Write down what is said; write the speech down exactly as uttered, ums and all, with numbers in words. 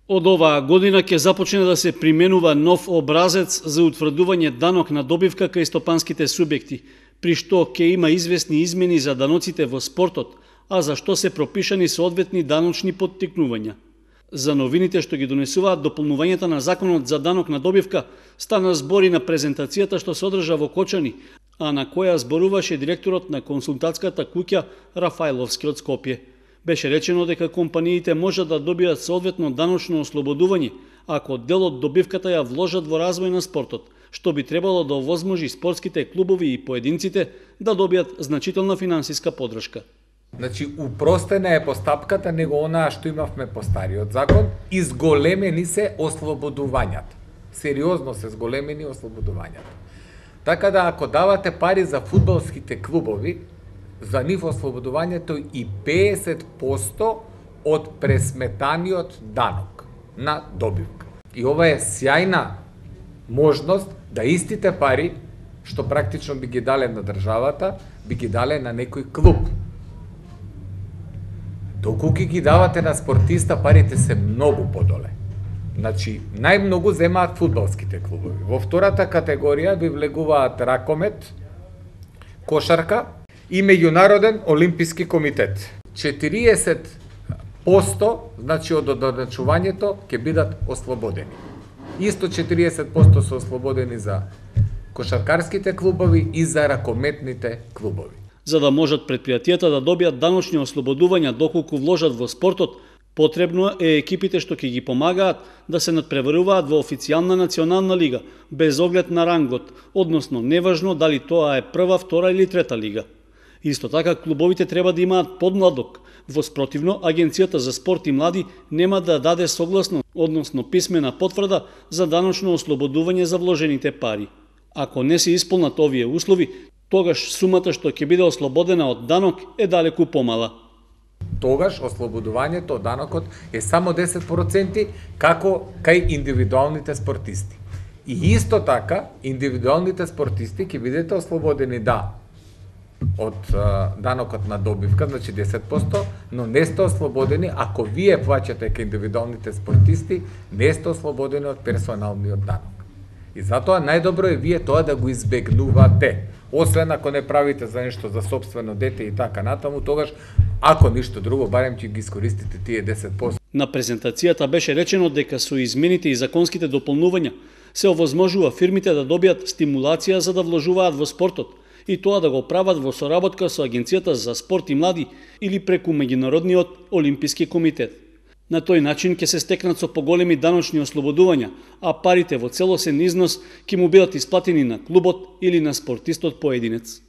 Од оваа година ќе започне да се применува нов образец за утврдување данок на добивка кај стопанските субјекти, при што ќе има известни измени за даноците во спортот, а за што се пропишани соодветни даночни поттикнувања. За новините што ги донесуваат дополнувањата на законот за данок на добивка стана збори на презентацијата што се одржа во Кочани, а на која зборуваше директорот на консултантската куќа Рафајловски од Скопје. Беше речено дека компаниите можат да добијат соодветно даночно ослободување ако дел од добивката ја вложат во развој на спортот, што би требало да овозможи спортските клубови и поединците да добијат значителна финансиска поддршка. Значи, упростена е постапката него онаа што имавме по стариот закон, и зголемени се ослободувањата. Сериозно се зголемени ослободувањата. Така да ако давате пари за фудбалските клубови, за нив ослободувањето и педесет проценти од пресметаниот данок на добивка. И ова е сјајна можност да истите пари, што практично би ги дале на државата, би ги дале на некој клуб. Доколку ги давате на спортиста, парите се многу подоле. Значи, најмногу земаат фудбалските клубови. Во втората категорија би влегуваат ракомет, кошарка и Меѓународен олимписки комитет. четириесет проценти, значи од одначувањето, ќе бидат ослободени. Исто четириесет проценти се ослободени за кошаркарските клубови и за ракометните клубови. За да можат предпријатијата да добијат даночни ослободувања доколку вложат во спортот, потребно е екипите што ќе ги помагаат да се надпреваруваат во официјална национална лига, без оглед на рангот, односно неважно дали тоа е прва, втора или трета лига. Исто така, клубовите треба да имаат подмладок. Во спротивно, Агенцијата за спорт и млади нема да даде согласно, односно писмена потврда за даночно ослободување за вложените пари. Ако не се исполнат овие услови, тогаш сумата што ќе биде ослободена од данок е далеку помала. Тогаш ослободувањето од данокот е само десет проценти како кај индивидуалните спортисти. И исто така, индивидуалните спортисти ќе бидете ослободени да од а, данокот на добивка, значи десет проценти, но не сте ослободени ако вие плаќате кај индивидуалните спортисти, не сте ослободени од персоналниот данок. И затоа најдобро е вие тоа да го избегнувате. Освен ако не правите за нешто за сопствено дете и така натаму, тогаш, ако ништо друго, барем ќе ги искористите тие десет проценти. На презентацијата беше речено дека со измените и законските дополнувања се овозможува фирмите да добијат стимулација за да вложуваат во спортот, и тоа да го прават во соработка со Агенцијата за спорт и млади или преку Меѓународниот олимписки комитет. На тој начин ќе се стекнат со поголеми даночни ослободувања, а парите во целосен износ ќе му бидат исплатени на клубот или на спортистот поединец.